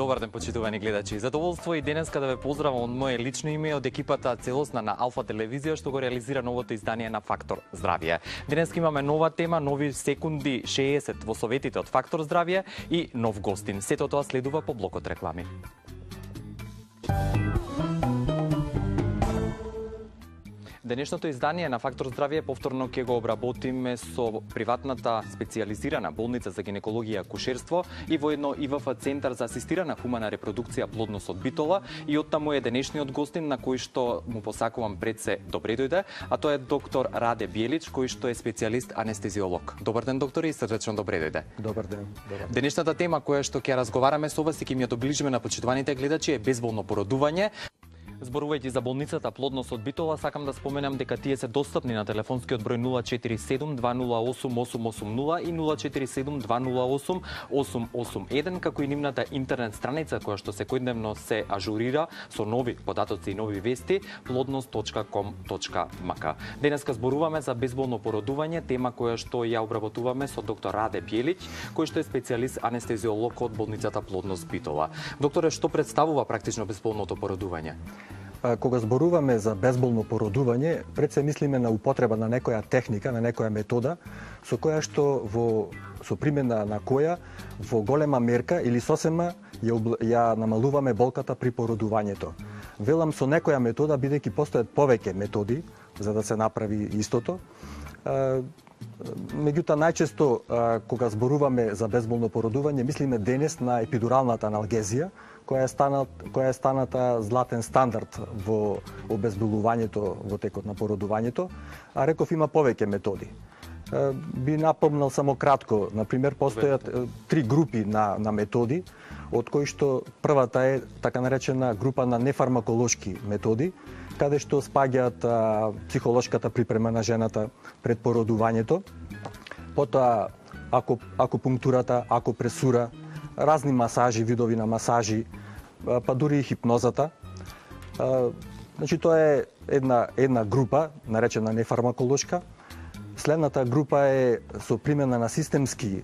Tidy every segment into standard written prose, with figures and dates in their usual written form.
Добар ден, почитувани гледачи. Задоволство и денеска да ве поздравам од мое лично име од екипата целосна на Алфа телевизија што го реализира новото издание на Фактор Здравје. Денеска имаме нова тема, нови секунди 60 во советите од Фактор Здравје и нов гостин. Сето тоа следува по блокот реклами. Денешното издание на Фактор Здравје повторно ќе го обработиме со приватната специјализирана болница за гинекологија и акушерство и воедно ИВФ Центар за асистирана хумана репродукција плодност од Битола, и оттаму е денешниот гостин на кој што му посакувам пред се добре дојде, а тоа е доктор Раде Биелич, кој што е специјалист анестезиолог. Добар ден, докторе, и срдечно добре дојде. Добар ден. Денешната тема која што ќе разговараме со вас и ќе ми ја доближиме на почитуваните гледачи е безболно породување. Зборувајќи за болницата Плодност од Битола, сакам да споменам дека тие се достапни на телефонскиот број 047 208 880 и 047 208 881, како и нивната интернет страница која што секојдневно се ажурира со нови податоци и нови вести plodnost.com.mk. Денеска зборуваме за безболно породување, тема која што ја обработуваме со доктор Раде Биелич, кој што е специјалист анестезиолог од болницата Плодност Битола. Докторе, што представува практично безболното породување? Кога зборуваме за безболно породување, пред се мислиме на употреба на некоја техника, на некоја метода, со која што со примена на која во голема мерка или сосема ја намалуваме болката при породувањето. Велам со некоја метода, бидејќи постојат повеќе методи за да се направи истото. Меѓутоа, најчесто кога зборуваме за безболно породување, мислиме денес на епидуралната аналгезија, која е станата златен стандард во обезболувањето во текот на породувањето, а реков има повеќе методи. Би напомнал само кратко, например, постојат три групи на методи, од кои што првата е така наречена група на нефармаколошки методи, каде што спаѓаат психолошката припрема на жената пред породувањето, потоа акупунктурата, акупресура, разни масажи, видови на масажи, па дури и хипнозата. Значи, тоа е една група, наречена нефармаколошка. Следната група е со примена на системски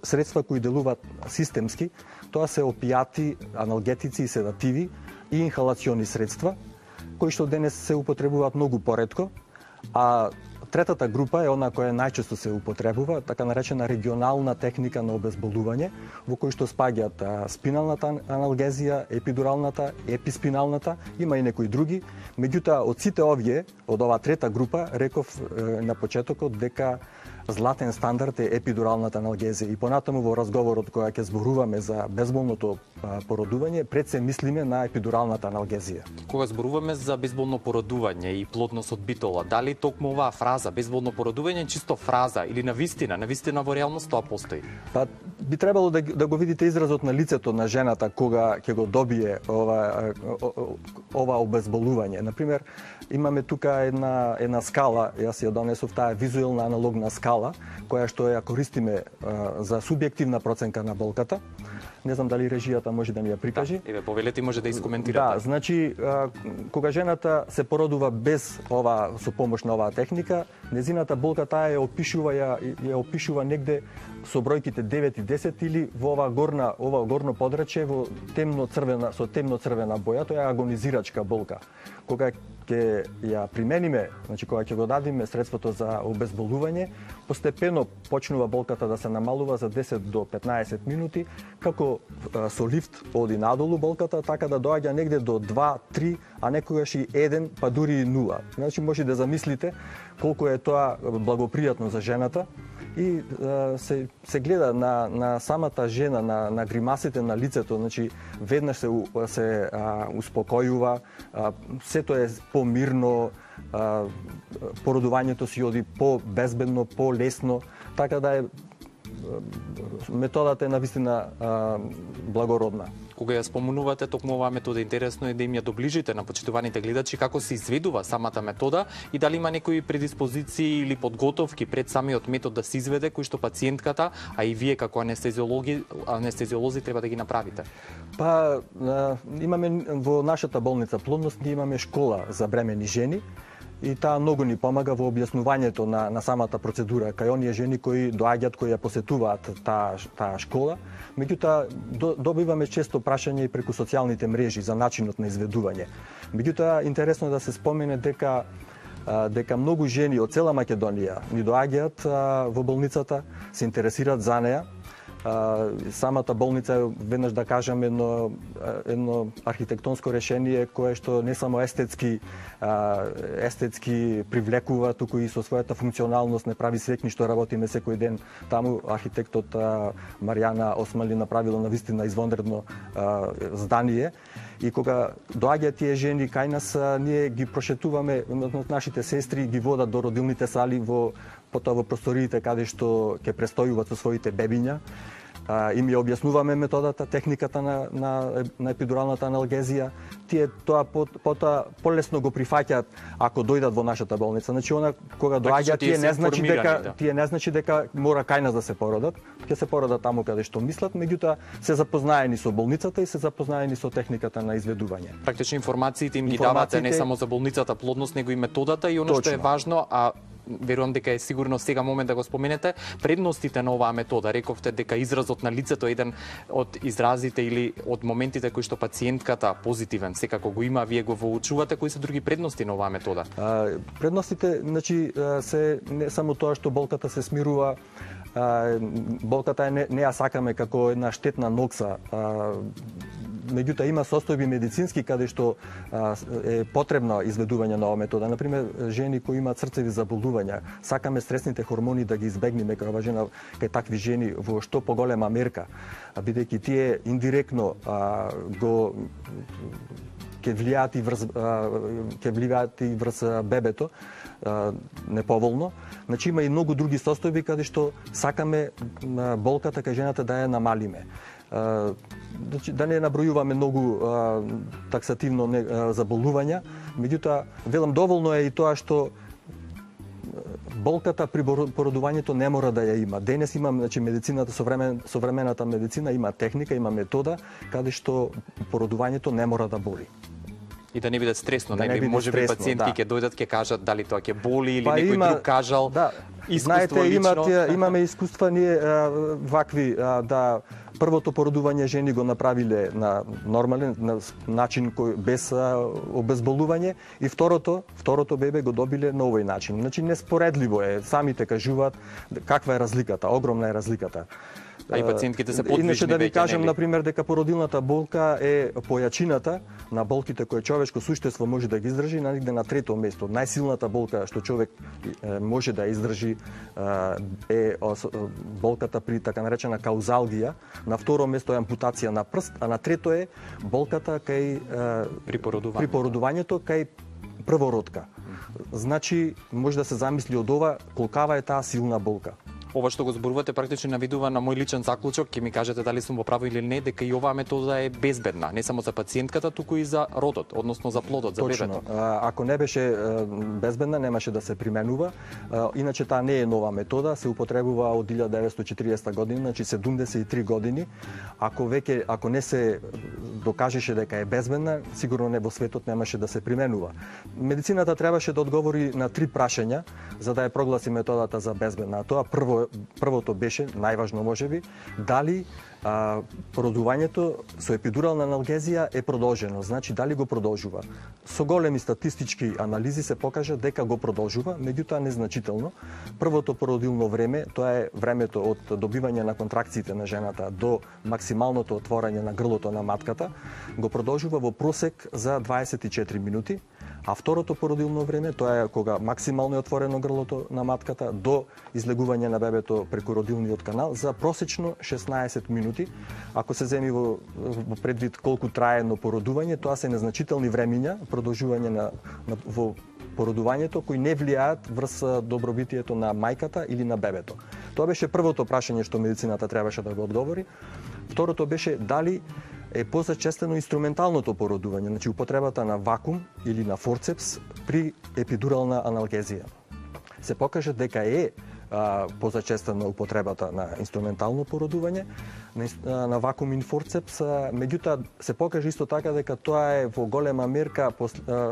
средства кои делуваат системски. Тоа се опијати, аналгетици и седативи и инхалациони средства, кои што денес се употребуваат многу поретко, а третата група е она која најчесто се употребува, така наречена регионална техника на обезболување, во кој што спаѓаат спиналната аналгезија, епидуралната, еписпиналната, има и некои други. Меѓутоа, од сите овие, од оваа трета група, реков на почетокот дека златен стандард е епидуралната аналгезија. И понатаму во разговорот кога ќе зборуваме за безболното породување, пред се мислиме на епидуралната аналгезија. Кога зборуваме за безболно породување и плодност од Битола, дали токму оваа фраза безболно породување е чисто фраза или навистина во реалност тоа постои? Па би требало да го видите изразот на лицето на жената кога ќе го добие ова обезболување. Например, имаме тука една скала, јас ја донесов, таа визуелна аналогна скала, која што ја користиме за субјективна проценка на болката. Не знам дали режијата може да ми ја прикажи. Да, еве, повелете, може да искоментирате. Да, значи, кога жената се породува без со помош на оваа техника, незината болка таа ја опишува негде со бројките 9 и 10 или во ова горно подрачје во со темно црвена боја, тоа е агонизирачка болка. Кога ќе ја примениме, значи кога ќе го дадиме средството за обезболување, постепено почнува болката да се намалува за 10 до 15 минути, како со лифт оди надолу болката, така да доаѓа негде до 2, 3, а некогаш и 1, па дури и 0. Значи може да замислите колку е тоа благопријатно за жената. И се гледа на самата жена, на гримасите на лицето, значи веднаш се успокојува, сето е помирно, породувањето си оди по-безбедно, по-лесно, така да е методата е навистина благородна. Кога ја спомнувате токму оваа метода, интересно е да им ја доближите на почитуваните гледачи како се изведува самата метода и дали има некои предиспозиции или подготовки пред самиот метод да се изведе, кои што пациентката, а и вие како анестезиолози треба да ги направите. Па имаме во нашата болница Плодност, ние имаме школа за бремени жени и таа многу ни помага во објаснувањето на самата процедура кај оние жени кои доаѓаат, кои ја посетуваат таа школа. Меѓутоа добиваме често прашање и преку социјалните мрежи за начинот на изведување. Меѓутоа интересно да се спомене дека многу жени од цела Македонија ни доаѓаат во болницата, се интересираат за неа. Самата болница е, веднаш да кажам, едно архитектонско решение кое што не само естетски привлекува, туку и со својата функционалност не прави свекни што работиме секој ден таму. Архитектот Маријана Осмали направила навистина извонредно здание. И кога доаѓаат тие жени кај нас, ние ги прошетуваме, нашите сестри ги водат до родилните сали, потоа во просториите каде што ќе престојуваат со своите бебиња. Им ја објаснуваме методата, техниката на епидуралната аналгезија. Тие тоа потоа полесно го прифаќаат ако дојдат во нашата болница. Значи кога доаѓаат тие не значи дека мора кај нас да се породат. Ќе се породат таму каде што мислат, меѓутоа се запознаени со болницата и се запознаени со техниката на изведување. Практично информациите им ги давате не само за болницата плодност, него и методата и што е важно, верувам дека е сигурно сега момент да го споменете, предностите на оваа метода. Рековте дека изразот на лицето е еден од изразите или од моментите кои што пациентката позитивен секако го има, вие го воучувате. Кои се други предности на оваа метода? Предностите, значи, се не само тоа што болката се смирува, болката не ја сакаме како една штетна нокса. Меѓутоа има состојби медицински каде што е потребно изведување на оваа метода. Например, жени кои имаат срцеви заболувања, сакаме стресните хормони да ги избегнеме кај такви жени во што поголема мерка, бидејќи тие индиректно ќе влијаат и врз бебето неповолно. Значи има и многу други состојби каде што сакаме болката кај жената да ја намалиме. Да не набројуваме многу таксативно заболувања, меѓутоа велам доволно е и тоа што болката при породувањето не мора да ја има. Денес имам, значи, медицината, современата медицина има техника, има метода каде што породувањето не мора да боли. И да не биде стресно, може би пациентки ќе дојдат, ќе кажат дали тоа ќе боли или некој друг кажал. Знаете, имаме искуства ние вакви, да првото породување жени го направиле на нормален начин без обезболување и второто бебе го добиле на овој начин. Значи неспоредливо е, самите кажуваат каква е разликата, огромна е разликата. А и пациентките се подвижни. Иначе да ви кажам, например, дека породилната болка е појачината на болките кои човечко суштество може да ги издржи негде на трето место. Најсилната болка што човек може да издржи е болката при така наречена каузалгија. На второ место е ампутација на прст, а на трето е болката при породувањето кај првородка. Значи, може да се замисли од ова колкава е таа силна болка. Ова што го зборувате практично навидува на мој личен заклучок, ќе ми кажете дали сум во право или не, дека и оваа метода е безбедна, не само за пациентката, туку и за родот, односно за плодот, за бебето. Точно. Ако не беше безбедна, немаше да се применува. Иначе таа не е нова метода, се употребува од 1940 година, значи 73 години. Ако не се докажеше дека е безбедна, сигурно не во светот немаше да се применува. Медицината требаше да одговори на 3 прашања за да ја прогласи методата за безбедна. Тоа првото беше, најважно можеби, дали породувањето со епидурална аналгезија е продолжено, значи дали го продолжува. Со големи статистички анализи се покажа дека го продолжува, меѓутоа незначително. Првото породилно време, тоа е времето од добивање на контракциите на жената до максималното отворање на грлото на матката, го продолжува во просек за 24 минути. А второто породилно време, тоа е кога максимално е отворено грлото на матката до излегување на бебето преку родилниот канал за просечно 16 минути. Ако се земи во предвид колку трае едно породување, тоа се незначителни времиња, продолжување во породувањето кои не влијаат врз добробитието на мајката или на бебето. Тоа беше првото прашање што медицината требаше да го одговори. Второто беше дали е позачестено инструменталното породување, значи употребата на вакуум или на форцепс при епидурална аналгезија. Се покажа дека е позачестена употребата на инструментално породување, на вакуум форцепс, меѓутоа се покажа исто така дека тоа е во голема мерка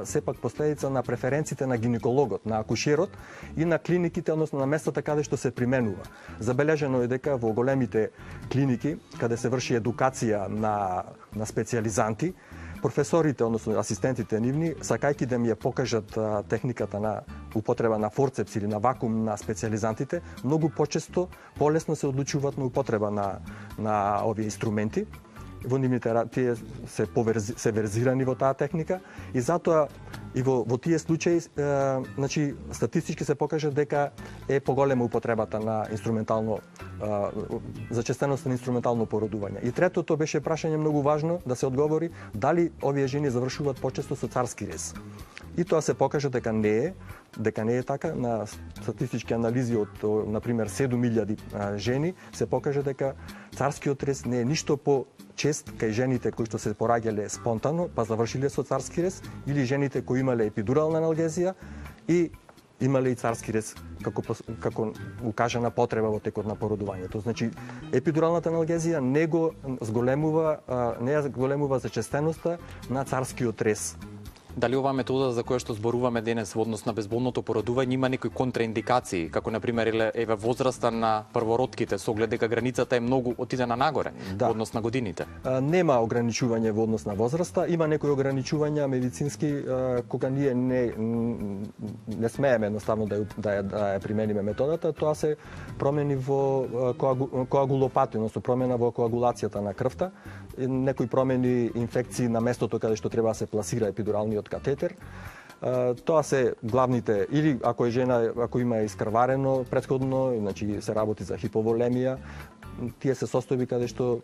сепак последица на преференциите на гинекологот, на акушерот и на клиниките, односно на местата каде што се применува. Забележено е дека во големите клиники, каде се врши едукација на специјализанти, професорите, односно асистентите нивни, сакајќи да ми ја покажат техниката на употреба на форцепс или на вакуум на специјализантите, многу почесто, полесно се одлучуваат на употреба на овие инструменти. Во нивните тие се верзирани во таа техника и затоа и во тие случаи значи статистички се покажа дека е поголема употребата на инструментално зачестеност на инструментално породување. И третото беше прашање многу важно да се одговори дали овие жени завршуваат почесто со царски рез. И тоа се покажа дека не е така. На статистички анализи од, например, 7000 жени се покажа дека царскиот рез не е ништо по-чест кај жените кои што се пораѓале спонтано, па завршиле со царски рез, или жените кои имале епидурална аналгезија и имале и царски рез како укажана потреба во текот на породувањето. Значи, епидуралната аналгезија не ја зголемува зачестеноста на царскиот рез. Дали оваа метода за која што зборуваме денес во однос на безболното породување има некои контраиндикации, како на пример еве возраста на првородките, со оглед дека границата е многу отидена нагоре во однос на годините? Нема ограничување во однос на возраста, има некои ограничувања медицински кога ние не смееме едноставно да ја примениме методата, тоа се промени во коагулопатија, односно промена во коагулацијата на крвта, некои промени, инфекции на местото каде што треба да се пласира епидуралниот катетер. Тоа се главните, или ако има искрварено претходно, значи се работи за хиповолемија, тие се состојби каде што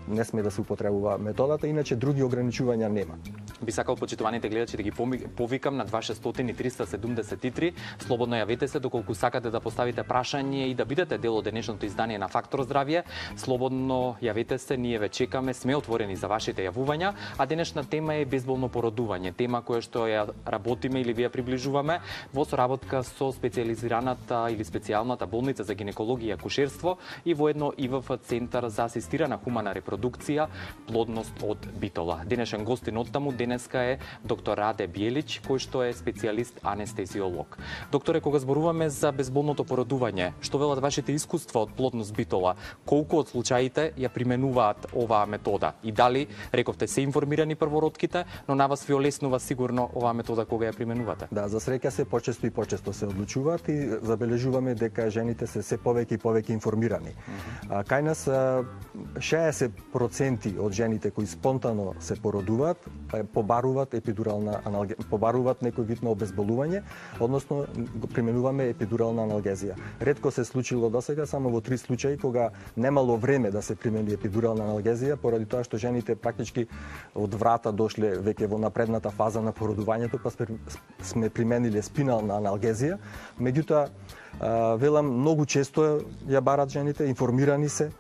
не сме да се употребува методата, иначе други ограничувања нема. Би сакал почитуваните гледачи да ги повикам на 2600 и 373. Слободно јавете се доколку сакате да поставите прашање и да бидете дел од денешното издание на Фактор здравје. Слободно јавете се, ние ве чекаме, сме отворени за вашите јавувања, а денешна тема е безболно породување, тема која што ја работиме или ви ја приближуваме во соработка со специјализираната или специјалната болница за гинекологија и акушерство и воедно ИВФ Центар за асистирана хумана репродукција, плодност од Битола. Денешен гостин од таму денеска е доктор Раде Биелич, кој што е специјалист анестезиолог. Докторе, кога зборуваме за безболното породување, што велат вашите искуства од плодност Битола? Колку од случаите ја применуваат оваа метода? И дали, рековте, се информирани првородките, но на вас ви олеснува сигурно оваа метода кога ја применувате? Да, за среќа се почесто и почесто се одлучуваат и забележуваме дека жените се повеќе и повеќе информирани. Кај нас 60% од жените кои спонтано се породуваат побаруваат епидурална аналгезија, побаруваат некој вид на обезболување, односно применуваме епидурална аналгезија. Ретко се случило досега, само во 3 случаи кога немало време да се примени епидурална аналгезија, поради тоа што жените практички од врата дошле веќе во напредната фаза на породувањето, па сме примениле спинална аналгезија. Меѓутоа, велам, многу често ја барат жените, информирани се,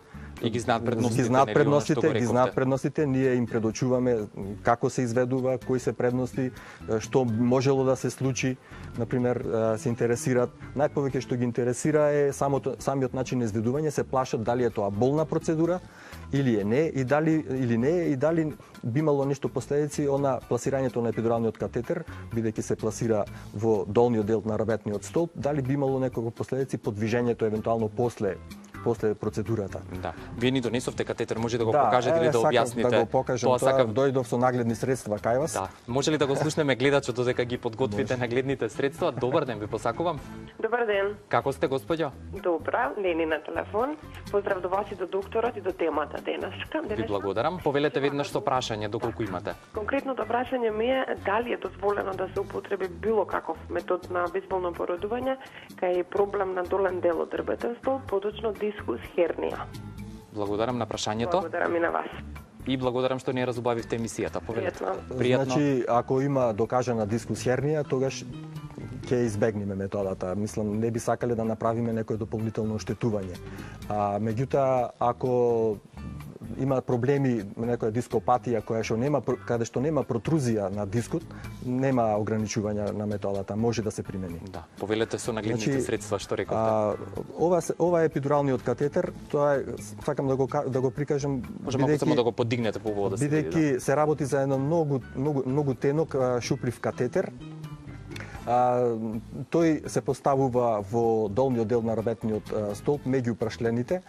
и ги знаат предностите, ние им предочуваме како се изведува, кои се предности, што можело да се случи, например, се интересираат. Најповеќе што ги интересира е самиот начин на изведување, се плашат дали е тоа болна процедура или не, и дали би имало нешто последици на пласирањето на епидуралниот катетер, бидејќи се пласира во долниот дел на раветниот столб, дали би имало неколку последици по движењето евентуално после процедурата. Да. Вие ни донесовте катетер, може да го покажете или да објасните? Да го покажам, дојдов со нагледни средства кај вас. Да. Може ли да го слушнеме гледачот додека ги подготвите нагледните средства? Добар ден, ви посакувам. Добар ден. Како сте, господјо? Добра, Лени на телефон. Поздрав до вас и до докторот и до темата денеска. Ви благодарам. Повелете веднаш со прашање доколку имате. Конкретното прашање ми е дали е дозволено да се употреби било каков метод на безболно породување кај проблем на долен дел од ребетен столб, поточно дискус хернија. Благодарам на прашањето. Благодарам и на вас. И благодарам што не разубавивте емисијата. Повелете. Пријатно. Значи, ако има докажана дискус хернија, тогаш ќе избегнеме методата. Мислам, не би сакале да направиме некое дополнително оштетување. Меѓутоа, ако има проблеми, некоја дископатија каде што нема протрузија на дискот, нема ограничување на методата, може да се примени. Да, повелете со нагледните средства што рековте. Ова е епидуралниот катетер, тоа е, сакам да го прикажам, може малку само да го подигнете по да се види. Бидејќи се работи за едно многу тенок шуплив катетер. Тој се поставува во долниот дел на рабетниот столб меѓу прашлените,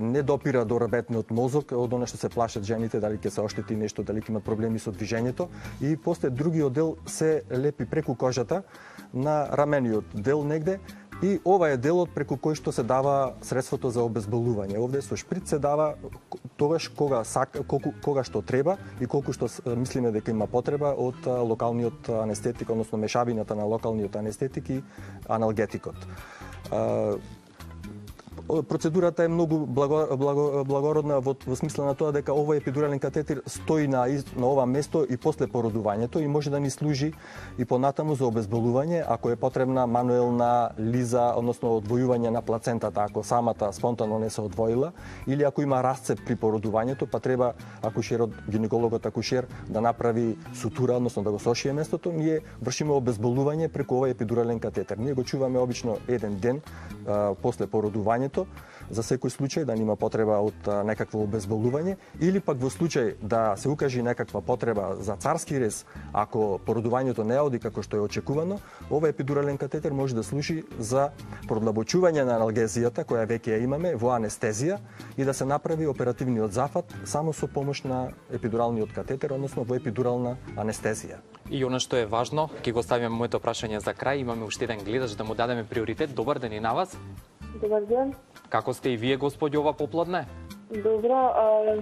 не допира до рабетниот мозок, од она што се плашат жените, дали ќе се оштети нешто, дали ќе имат проблеми со движењето, и после другиот дел се лепи преку кожата на рамениот дел негде, и ова е делот преку кој што се дава средството за обезболување. Овде со шприц се дава тогаш кога што треба и колку што мислиме дека има потреба од локалниот анестетик, односно мешавината на локалниот анестетик и аналгетикот. Процедурата е многу благородна во смисла на тоа дека овој епидурален катетер стои на ова место и после породувањето и може да ни служи и понатаму за обезболување ако е потребна мануелна лиза, односно одвојување на плацентата ако самата спонтано не се одвоила, или ако има расцеп при породувањето, па треба гинекологот акушер да направи сутура, односно да го сошие местото, ние вршиме обезболување преку овој епидурален катетер. Ние го чуваме обично еден ден после породувањето, за секој случај да нема потреба од некакво обезболување, или пак во случај да се укажи некаква потреба за царски рез, ако породувањето не оди како што е очекувано, овој епидурален катетер може да служи за продлабочување на аналгезијата која веќе ја имаме во анестезија и да се направи оперативниот зафат само со помош на епидуралниот катетер, односно во епидурална анестезија. И она што е важно, ќе го ставиме моето прашање за крај, имаме уште еден гледач да му дадеме приоритет. Добар ден и на вас. Добар ден. Како сте и вие, господи, ова попладне? Добро,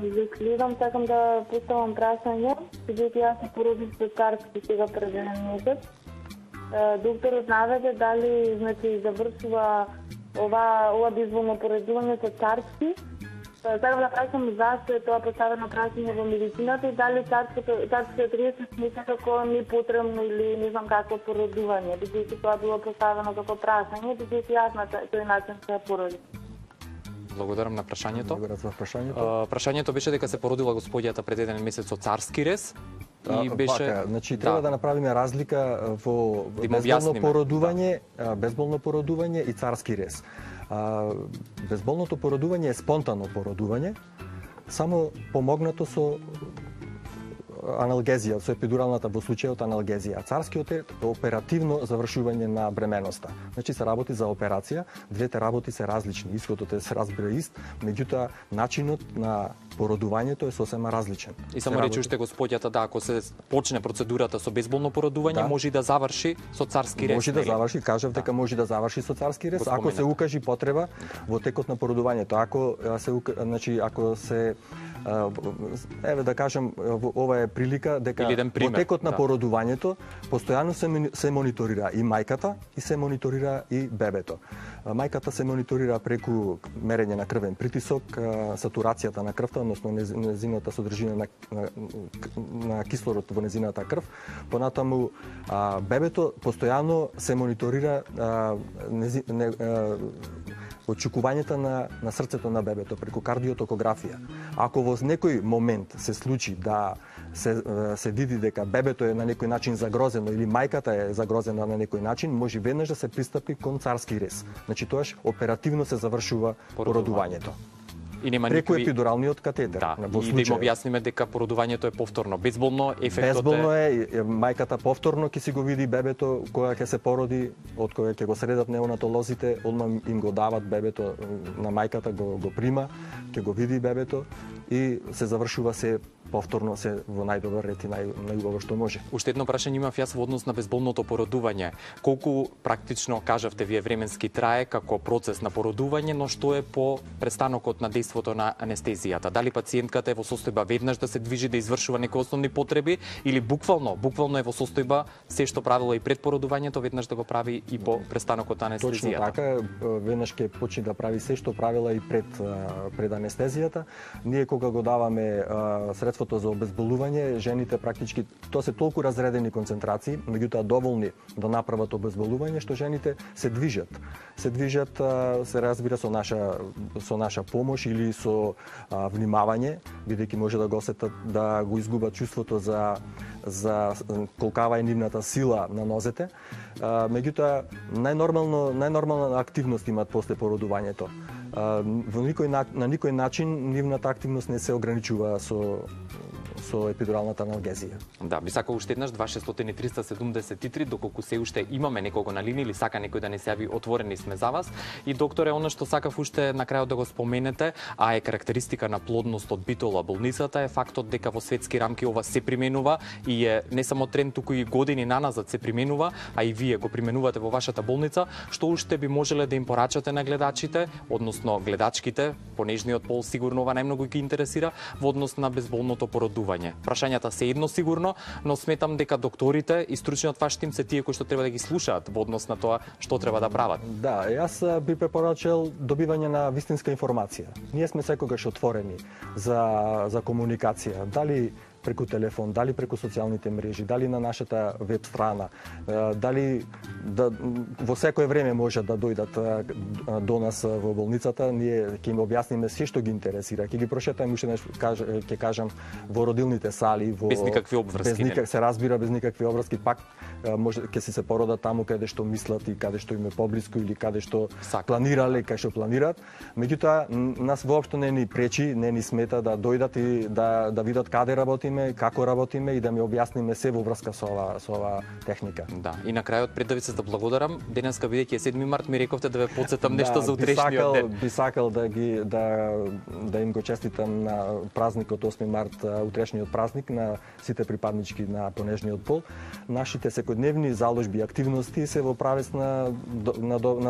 за следам сакам да поставам прашање, бидејќи јас се породив со царски сега пред еден месец. Докторот наведе дали завршува ова безболно породување со царски. Сакам да прашам зашто е тоа поставено прашање во медицината и дали царскиот рез се смета како непотребно или не знам какво породување, бидејќи тоа било поставено како прашање, бидејќи јас на тој начин се породив. Благодарам на прашањето. Прашањето беше дека се породила господјата пред еден месец со царски рез и беше треба да направиме разлика во безболно породување и царски рез. Безболното породување е спонтано породување, само помогнато со аналгезија, со епидуралната во случајот аналгезија. Царскиот е оперативно завршување на бременоста. Значи се работи за операција, двете работи се различни, исходот се разбира ист, меѓутоа начинот на породувањето е сосема различен. И само рече уште господјата да ако се почне процедурата со безболно породување, може да заврши со царски рез. Може да заврши, кажав дека може да заврши со царски рез, ако се укажи потреба во текот на породувањето. Ако се еве да кажам, ова е прилика дека во текот на породувањето постојано се мониторира и мајката и се мониторира и бебето. Мајката се мониторира преку мерење на крвен притисок, сатурацијата на крвта, односно незината содржина на кислород во незината крв. Понатаму бебето постојано се мониторира отчекувањето на срцето на бебето преку кардиотокографија. Ако во некој момент се случи да се види дека бебето е на некој начин загрозено или мајката е загрозена на некој начин, може веднаш да се пристапи кон царски рез. Значи тоаш оперативно се завршува породувањето. И нема преку епидуралниот катетер. Да, и да им објасниме дека породувањето е повторно. Безболно безболно е, мајката повторно ќе си го види бебето кога ќе се породи, од кога ќе го средат неонатолозите, одма им го дават бебето на мајката, го прима, ќе го види бебето и се завршува се повторно се во најдобар ред и најубаво што може. Уште едно прашање имав јас во однос на безболното породување. Колку практично кажавте вие временски трае како процес на породување, но што е по престанокот на дејството на анестезијата? Дали пациентката е во состојба веднаш да се движи да извршува некои основни потреби или буквално е во состојба се што правила и пред породувањето веднаш да го прави и по престанокот на анестезијата? Точно така, веднаш ќе почне да прави се што правила и пред анестезијата. Ние кога го даваме средство чувството за обезболување, жените практички тоа се толку разредени концентрации, меѓутоа доволни да направат обезболување што жените се движат. Се разбира со наша помош или со внимавање, бидејќи може да го осетат да го изгубат чувството за колкава е нивната сила на нозете. Меѓутоа најнормална активност имаат после породувањето. На никој начин нивната активност не се ограничува со епидуралната аналгезија. Да, би сакал уште еднаш 2600-373, доколку се уште имаме некого на линија или сака некој да не се јави, отворени сме за вас. И докторе, она што сакав уште на крајот да го споменете, а е карактеристика на плодност од Битола болницата, е фактот дека во светски рамки ова се применува и е не само тренд, туку и години наназад се применува, а и вие го применувате во вашата болница. Што уште би можеле да им порачате на гледачите, односно гледачките, понежниот пол сигурно ова најмногу ги интересира, во однос на безболното породување? Прашањата се едно сигурно, но сметам дека докторите и стручниот ваш тим се тие кои што треба да ги слушаат во однос на тоа што треба да прават. Да, јас би препорачал добивање на вистинска информација. Ние сме секогаш отворени за комуникација, дали преку телефон, дали преку социјалните мрежи, дали на нашата веб страна, дали во секое време може да дојдат до нас во болницата, ние ќе им објасниме се што ги интересира, ќе ги прошетаме уште нешто, ќе кажам, во родилните сали, без никакви обврски. Се разбира, без никакви обврски, пак може ќе се породат таму каде што мислат и каде што им е поблиску или каде што планирале, каде што планираат. Меѓутоа, нас воопшто не ни пречи, не ни смета да дојдат и да видат каде работиме, како работиме и да ми објасниме се во врска со ова техника. Да, и на крајот пред да ви се благодарам, денеска бидејќи е 7 март ми рековте да ве потсетам нешто за утрешниот ден. Би сакал да им го честитам на празникот 8 март, утрешниот празник на сите припаднички на понежниот пол. Нашите секојдневни заложби и активности се во правец на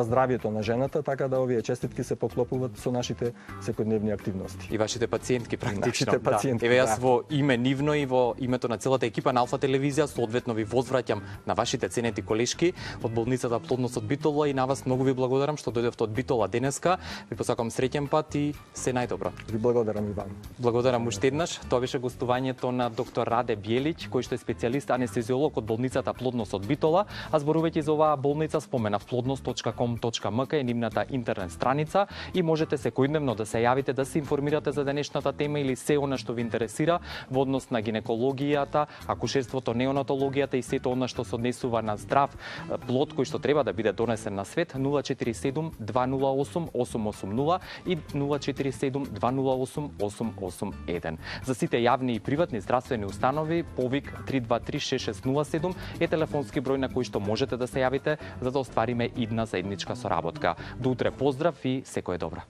здравјето на жената, така да овие честитки се поклопуваат со нашите секојдневни активности. И вашите пациентки практично. Нашите пациентки. Еве јас во име нивно и во името на целата екипа на Алфа телевизија соодветно ви возвраќам на вашите ценети колешки од болницата Плодност од Битола и на вас многу ви благодарам што дојдовте од Битола денеска. Ви посакам среќен пат и се најдобро. Ви благодарам и вам. Благодарам уште еднаш. Тоа беше гостувањето на доктор Раде Бјелиќ, кој што е специјалист анестезиолог од болницата Плодност од Битола, а зборувајќи за оваа болница споменав plodnost.com.mk е нивната интернет страница и можете секојдневно да се јавите да се информирате за денешната тема или се она што ви интересира во однос на гинекологијата, акушерството, неонатологијата и сето она што се однесува на здрав плод кој што треба да биде донесен на свет. 047 208 880 и 047 208 881. За сите јавни и приватни здравствени установи повик 323 6607 е телефонски број на кој што можете да се јавите за да оствариме идна заедничка соработка. До утре поздрав и секое добро.